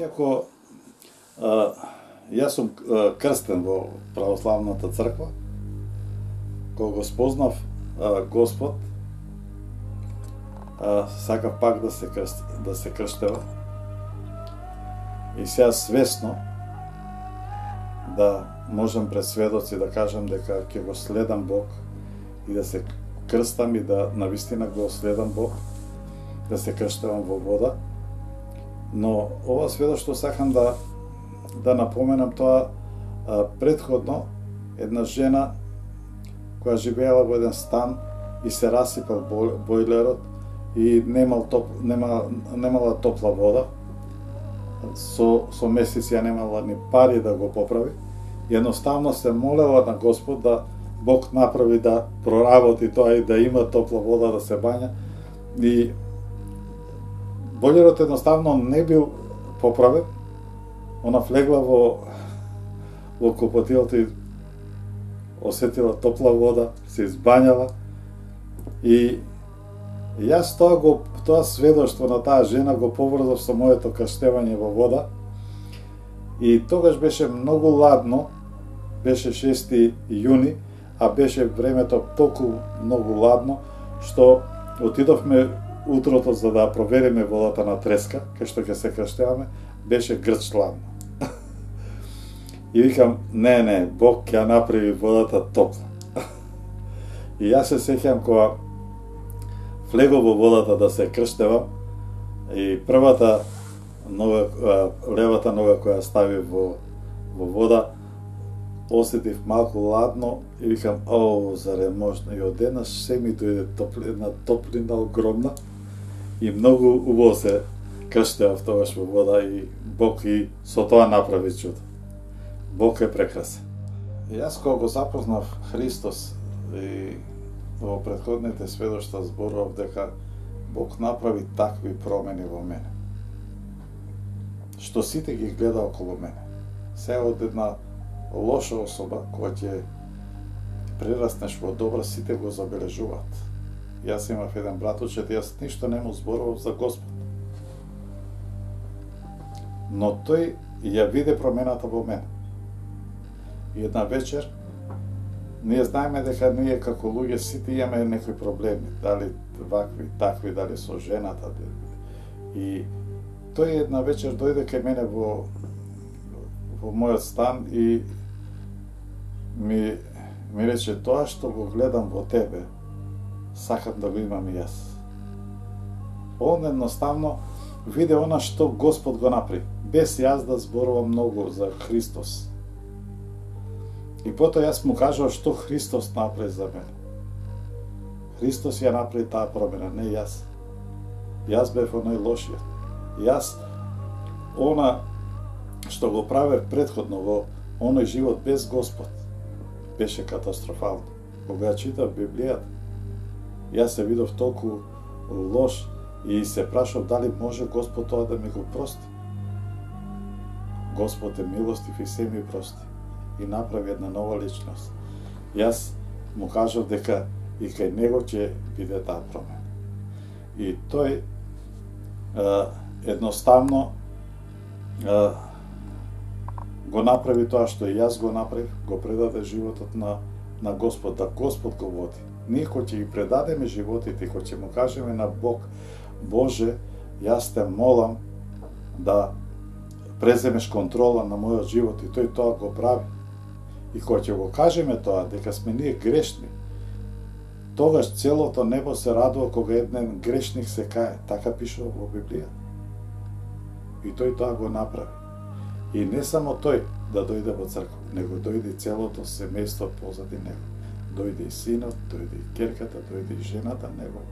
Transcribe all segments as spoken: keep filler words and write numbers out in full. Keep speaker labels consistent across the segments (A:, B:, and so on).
A: Иако а, јас сум а, крстен во православната црква, кога го спознав а, Господ, а, сакав пак да се крст, да се крштева. И сега свесно да можам пред сведоци да кажам дека ќе го следам Бог и да се крстам и да навистина го следам Бог, да се крштевам во вода. Но ова сведоштво сакам да да напоменам тоа, а, предходно една жена која живеела во еден стан и се расипал бойлерот и немал топ, нема, немала топла вода. Со, со месеци ја немала ни пари да го поправи. Едноставно се молела на Господ да Бог направи да проработи тоа и да има топла вода да се бања. И бойлерот едноставно не бил поправен. Она влегла во во копотилото и осетила топла вода, се избањала. И јас тоа го тоа сведоштво на таа жена го поврзав со моето крштевање во вода. И тогаш беше многу ладно, беше шести јуни, а беше времето толку многу ладно, што отидовме утрото за да провериме водата на треска, кај што ќе се крштеваме, беше грч ладно. И викам, не, не, Бог ќе направи водата топла. И јас се сеќам кога влегов во водата да се крштевам и првата нога, левата нога која стави во, во вода, осетив малку ладно и викам, о, заре можно? И одеднаш се ми дојде топлина, топлина огромна и многу убаво се крштевав тогаш во вода и Бог и со тоа направи чудо. Бог е прекрасен. Јас кога го запознав Христос и во претходните сведоштва зборував дека Бог направи такви промени во мене, што сите ги гледа околу мене. Сега од една лоша особа, која ќе прераснеш во добра, сите го забележуваат. Јас имав еден братучет, јас ништо не му зборував за Господ. Но тој ја виде промената во мене. И една вечер, ние знаеме дека ние како луѓе сите имаме некои проблеми, дали вакви, такви, дали со жената. И тој една вечер дојде кај мене во во мојот стан и ми ми рече, тоа што го гледам во тебе, сакам да го имам и јас. Он едноставно виде она што Господ го направи, без јас да зборувам многу за Христос. И потоа јас му кажав што Христос направи за мене. Христос ја направи таа промена, не јас. Јас бев оној лошиот. Јас, она што го правев предходно во оној живот без Господ, беше катастрофално. Кога ја читав Библијата, јас се видов толку лош и се прашав дали може Господ тоа да ми го прости. Господ е милостив и се ми прости и направи една нова личност. Јас му кажав дека и кај него ќе биде таа промена. И тој е, едноставно е, го направи тоа што и јас го направив, го предаде животот на, на Господ, да Господ го води. Ние кој ќе ги предадеме животите, кој ќе му кажеме на Бог, Боже, јас те молам да преземеш контрола на мојот живот, и тој тоа го прави. И кога ќе го кажеме тоа, дека сме ние грешни, тогаш целото небо се радува кога еден грешник се кае. Така пишува во Библија. И тој тоа го направи. И не само тој да дојде во црква, него дојде целото семејство позади него. Дојде и синот, дојде и ќерката, дојде и жената него.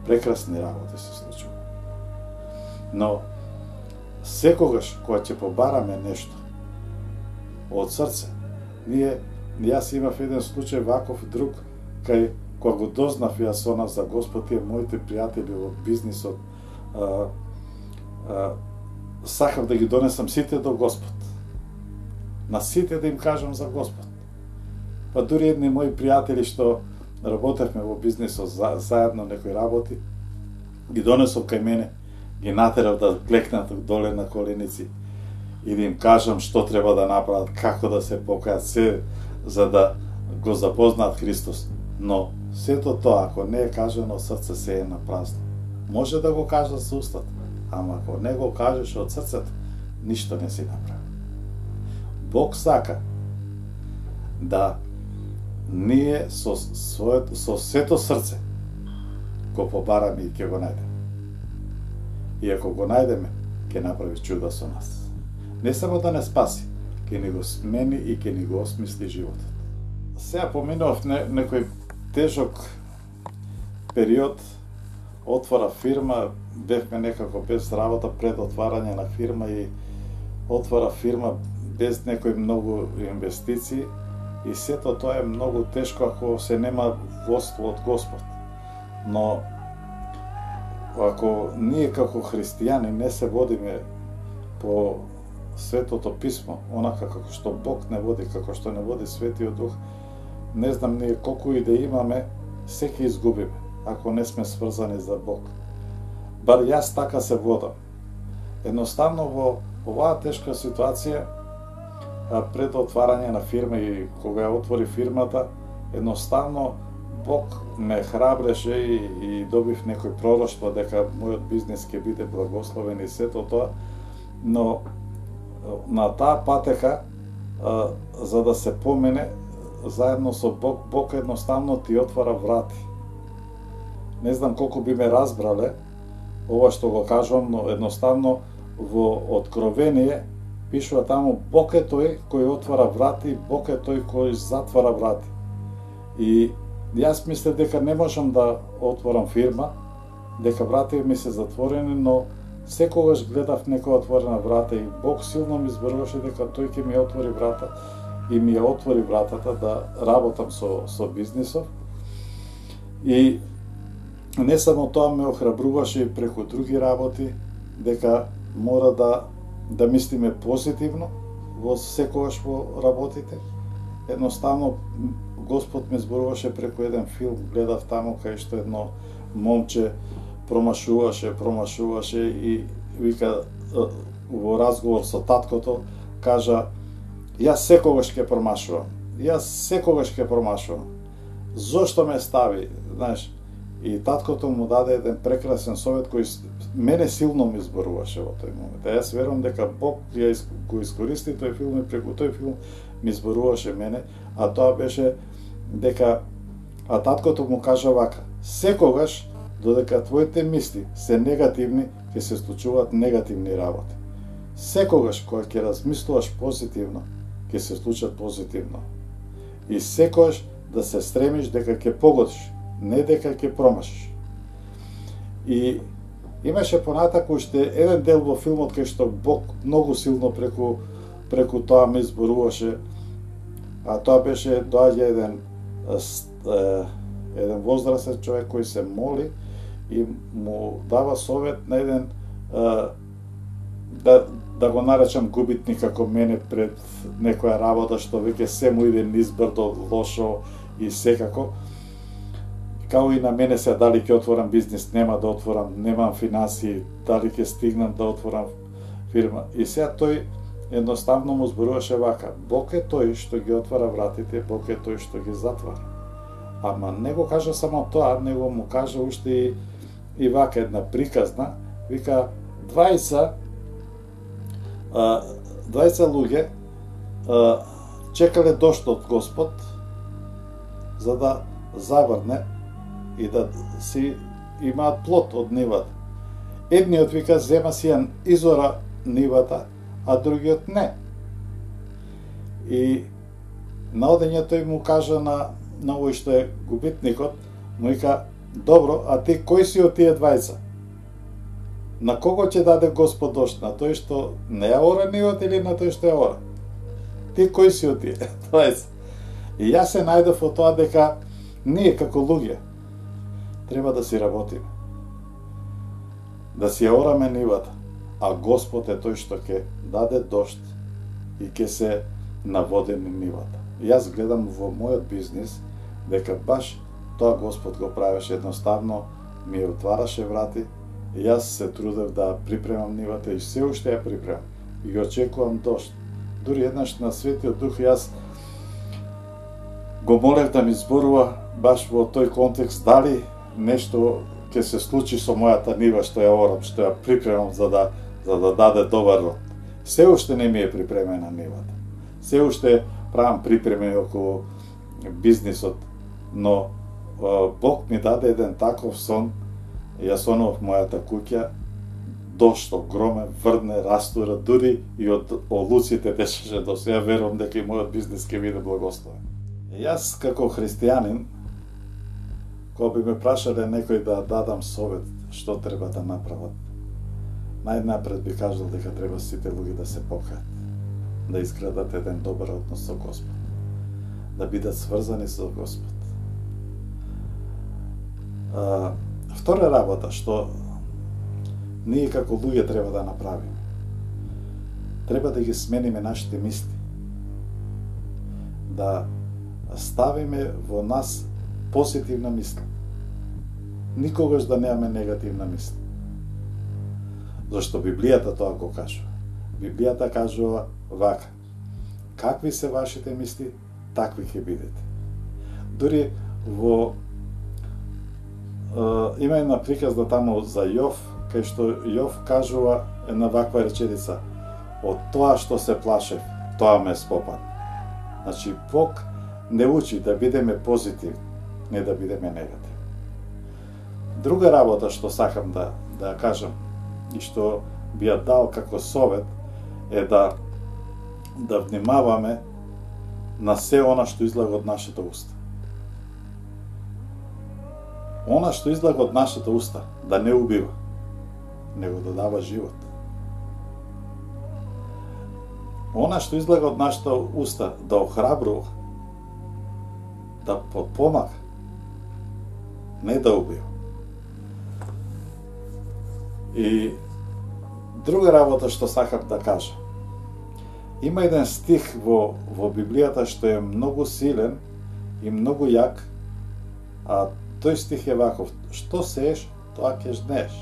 A: Прекрасни работи се случува. Но секогаш кога ќе побараме нешто од срце, ние, јас имав еден случај ваков друг, кај кога го дознав јас она за Господ, тие моите пријатели во бизнисот, а, а, сакав да ги донесам сите до Господ. На сите да им кажам за Господ. Па дури едни мои пријатели што работевме во бизнисот за, заедно некои работи, ги донесов кај мене ги натерав да клекнат доле на коленици и да им кажам што треба да направат, како да се покајат, се за да го запознаат Христос. Но сето тоа, ако не е кажано срце, се е на празно. Може да го кажат со устата, ама ако не го кажеш од срцето, ништо не си направи. Бог сака да ние со своето, со сето срце го побараме и ќе го најдеме. И ако го најдеме, ќе направи чуда со нас. Не само да не спаси, ќе ни го смени и ќе ни го осмисли животот. Сега поминав не, некој тежок период, отвора фирма, бевме некако без работа пред отварање на фирма и отвора фирма без некои многу инвестиции и сето тоа е многу тешко ако се нема водство од Господ. Но ако ние како христијани не се водиме по Светото Писмо, онака како што Бог не води, како што не води Светиот Дух, не знам ние колку и да имаме, се ќе изгубиме, ако не сме сврзани за Бог. Бар јас така се водам. Едноставно во оваа тешка ситуација, пред отварање на фирма и кога ја отвори фирмата, едноставно Бог ме храбреше и, и добив некој пророштво дека мојот бизнес ќе биде благословен и сето тоа, но на таа патека, а, за да се помене, заедно со Бог, Бог едноставно ти отвара врати. Не знам колку би ме разбрале ова што го кажувам, но едноставно во Откровение пишува таму Бог е тој кој отвара врати, Бог е тој кој затвара врати. И јас мислев дека не можам да отворам фирма, дека врати ми се затворени, но секогаш гледав некоја отворена врата и Бог силно ми зборуваше дека тој ќе ми отвори врата и ми ја отвори вратата да работам со, со бизнисов. И не само тоа ме охрабруваше и преку други работи, дека мора да, да мислиме позитивно во секогаш во работите. Едноставно, Господ ме зборуваше преку еден филм, гледав таму кај што едно момче промашуваше, промашуваше и вика во разговор со таткото, кажа: јас секогаш ќе промашувам, јас секогаш ќе промашувам. Зошто ме стави, знаеш? И таткото му даде еден прекрасен совет кој мене силно ми зборуваше во тој момент. А јас верувам дека Бог ја го искористи тој филм и преку тој филм ми зборуваше мене, а тоа беше дека, а таткото му кажа вака: секогаш додека твоите мисли се негативни, ќе се случуваат негативни работи. Секогаш кога ќе размислуваш позитивно, ќе се случат позитивно. И секогаш да се стремиш дека ќе погодиш, не дека ќе промашиш. И имаше понатаку уште еден дел во филмот кај што Бог многу силно преку преку тоа ми зборуваше, а тоа беше доаѓа еден еден возрастен човек кој се моли и му дава совет на еден да да го наречам губитник како мене пред некоја работа што веќе се му иде низбрдо, лошо и секако. Као и на мене се, дали ќе отворам бизнес, нема да отворам, немам финансии, дали ќе стигнам да отворам фирма. И сега тој едноставно му зборуваше вака: Бог е тој што ги отвара вратите, Бог е тој што ги затвара. Ама не го кажа само тоа, него му кажа уште и, и вака една приказна, вика: двајца двајца луѓе чекале дошт од Господ за да заврне и да си имаат плод од нивата. Едниот вика: зема си ја изора нивата, а другиот не. И на одење тој му кажа на, на овој што е губитникот, му вика: добро, а ти кој си од тие двајца? На кого ќе даде Господ дошт? На тој што не ја ора нивата или на тој што ја ора? Ти кој си од тие двајца? И јас се најдов во тоа дека ние како луѓе треба да си работиме, да си ја ораме нивата, а Господ е тој што ќе даде дошт и ќе се наводени нивата. Јас гледам во мојот бизнис дека баш тоа Господ го правеше, едноставно ми отвараше врати, Јас се трудев да припремам нивата и се уште ја припремам. И очекувам дожд. Дури еднаш на Светиот Дух јас го молев да ми зборува баш во тој контекст дали нешто ќе се случи со мојата нива што ја орам, што ја припремам за да за да даде добар род. Се уште не ми е припремена нивата. Се уште правам припреми околу бизнисот, но Бог ми даде еден таков сон. Јас онов мојата куќа, дошт огромен, врне, растура, дури и од олуците дешеше до сега, верувам дека и мојот бизнис ќе биде благословен. Јас како христијанин, кога би ме прашале некој да дадам совет што треба да направат, најнапред би кажал дека треба сите луѓе да се покаат, да изградат еден добар однос со Господ, да бидат сврзани со Господ. А, втора работа што ние како луѓе треба да направиме, треба да ги смениме нашите мисли, да ставиме во нас позитивна мисла. Никогаш да немаме негативна мисла. Зашто Библијата тоа го кажува. Библијата кажува вака: какви се вашите мисли, такви ќе бидете. Дури во е, има една приказна таму за Јов, кај што Јов кажува една ваква реченица: од тоа што се плашев, тоа ме спопадна. Значи, Бог не учи да бидеме позитивни, не да бидеме негативни. Друга работа што сакам да да ја кажам и што би ја дал како совет е да да внимаваме на се она што излага од нашата уста. Она што излага од нашата уста да не убива, него да дава живот. Она што излага од нашата уста да охрабрува, да подпомага, не да убива. И друга работа што сакам да кажа. Има еден стих во, во Библијата што е многу силен и многу јак, а тој стих е ваков: што сееш, тоа ќе жнеш.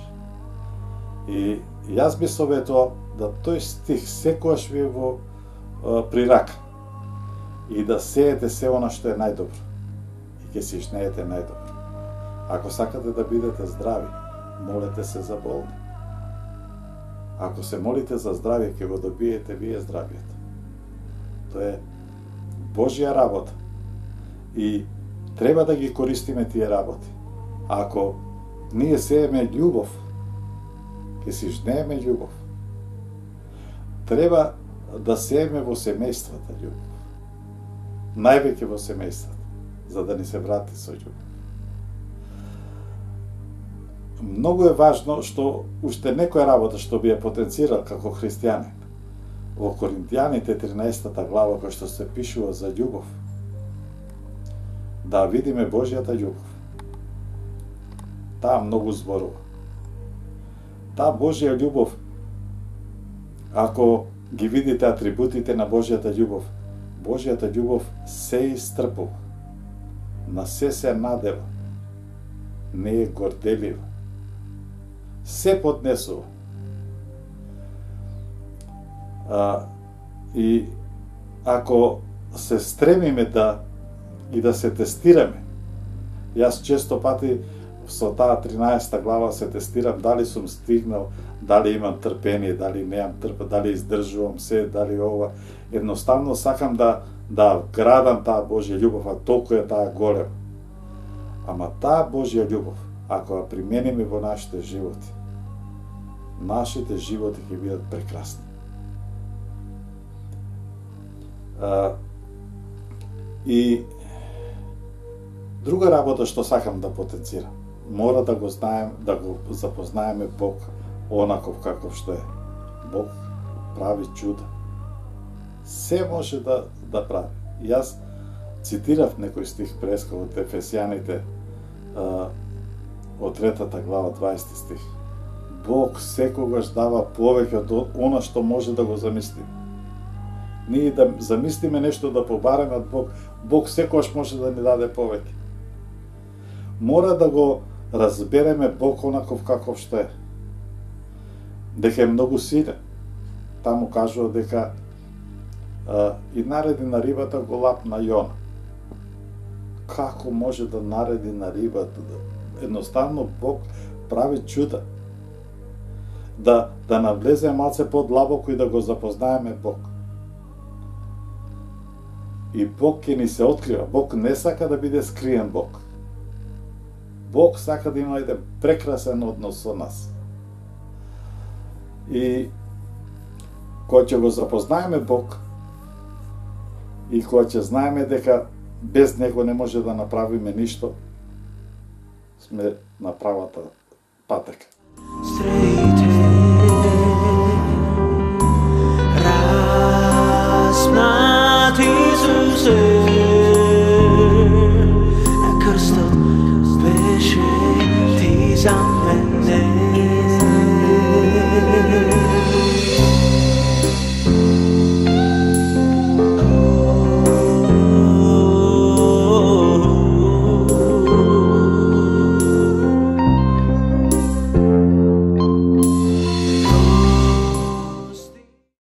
A: И јас би советувал да тој стих секогаш ви е во при рака и да сеете се она што е најдобро и ќе си жнеете најдобро. Ако сакате да бидете здрави, молете се за болни. Ако се молите за здравие, ќе го добиете вие здравието. Тоа е Божја работа и треба да ги користиме тие работи. Ако ние сееме љубов, ќе си жнееме љубов. Треба да сееме во семејствата љубов. Највеќе во семејствата, за да ни се врати со љубов. Многу е важно што уште некоја работа што би ја потенцирал како христијанин. Во Коринтијаните тринаесетта глава, која што се пишува за љубов, да видиме Божјата љубов. Таа многу зборува. Таа Божја љубов, ако ги видите атрибутите на Божјата љубов, Божјата љубов се истрпува, на се се надева, не е горделива, се поднесува. А, и ако се стремиме да и да се тестираме, јас често пати со таа тринаесетта глава се тестирам дали сум стигнал, дали имам трпение, дали неам трпа, дали издржувам се, дали ова. Едноставно сакам да да градам таа Божја љубов, а толку е таа голема. Ама таа Божја љубов, ако ја примениме во нашите животи, нашите животи ќе бидат прекрасни. А, и друга работа што сакам да потенцирам, мора да го знаем, да го запознаеме Бог онаков каков што е. Бог прави чуда. Се може да да прави. Јас цитирав некој стих преска од Ефесијаните а, од третата глава, дваесети стих. Бог секогаш дава повеќе од она што може да го замислиме. Ние да замислиме нешто да побареме од Бог, Бог секогаш може да ни даде повеќе. Мора да го разбереме Бог онаков каков што е. дека е многу силен. Таму кажува дека а, и нареди на рибата го лапна Јона. Како може да нареди на рибата? Едноставно Бог прави чуда. Да, да навлезе малце подлабоко и да го запознаеме Бог. И Бог ќе ни се открива. Бог не сака да биде скриен Бог. Бог сака да има еден прекрасен однос со нас. И кога ќе го запознаеме Бог, и кога ќе знаеме дека без Него не може да направиме ништо, сме на правата патека.
B: Распнат Исусе, на крстот беше ти за мене.